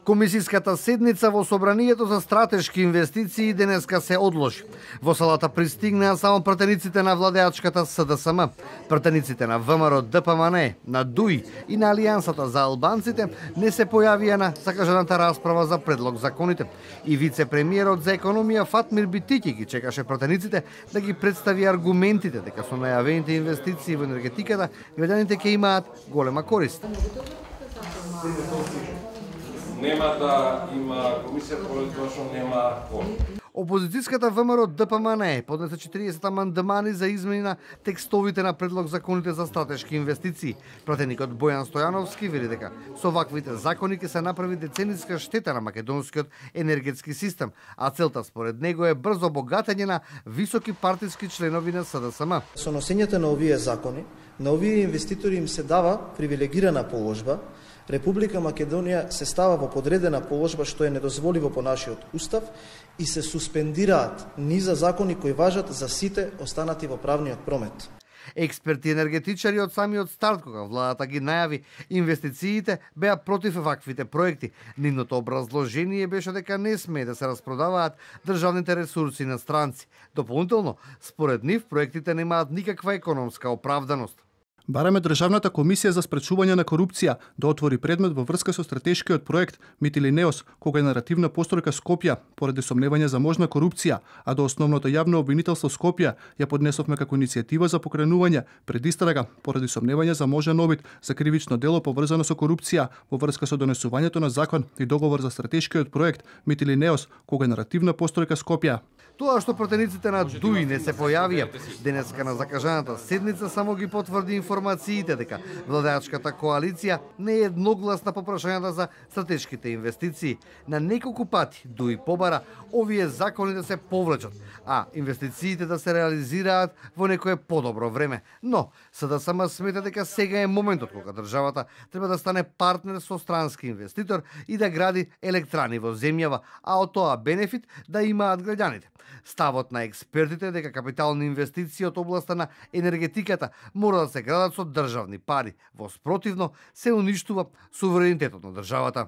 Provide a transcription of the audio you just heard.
Комисиската седница во Собранието за стратешки инвестиции денеска се одложи. Во салата пристигнаа само пратениците на владеачката СДСМ, пратениците на ВМРО ДПМН, на ДУИ и на Алијансата за албанците не се појавија на закажаната расправа за предлог законите. И вице-премиерот за економија Фатмир Битики ги чекаше пратениците да ги представи аргументите дека со најавените инвестиции во енергетиката граѓаните ќе имаат голема корист. Нема да има комисија поради тоа што нема кворум. Опозицијската ВМРО ДПМН поднесе 40 амандмани за измени на текстовите на предлог законите за стратешки инвестиции. Пратеникот Бојан Стојановски вели дека со ваквите закони ќе се направи децениска штета на македонскиот енергетски систем, а целта според него е брзо богатење на високи партиски членови на СДСМ. Со носењето на овие закони, на овие инвеститори им се дава привилегирана положба. Република Македонија се става во подредена положба што е недозволиво по нашиот устав и се суспендираат низа закони кои важат за сите останати во правниот промет. Експерти енергетичари од самиот старт, кога владата ги најави инвестициите, беа против ваквите проекти. Нивното образложение беше дека не смее да се распродаваат државните ресурси на странци. Дополнително, според нив, проектите немаат никаква економска оправданост. Бараме Државната комисија за спречување на корупција да отвори предмет во врска со стратешкиот проект Митилинеос, когенеративна постројка Скопје, поради сомневање за можна корупција, а до основното јавно обвинителство Скопје ја поднесовме како иницијатива за покренување пред истрага поради сомневање за можен обид за кривично дело поврзано со корупција во врска со донесувањето на закон и договор за стратешкиот проект Митилинеос, когенеративна постројка Скопје. Тоа што пратениците на ДУИ не се појавија денеска на закажаната седница само ги потврди информациите дека владеачката коалиција не е едногласна по прашањата за стратешките инвестиции. На неколку пати ДУИ побара овие закони да се повлечат, а инвестициите да се реализираат во некое подобро време. Но СДСМ смета дека сега е моментот кога државата треба да стане партнер со странски инвеститор и да гради електрани во земјава, а од тоа бенефит да имаат граѓаните. Ставот на експертите дека капитални инвестиции од областа на енергетиката мора да се градат со државни пари. Во спротивно се уништува суверенитетот на државата.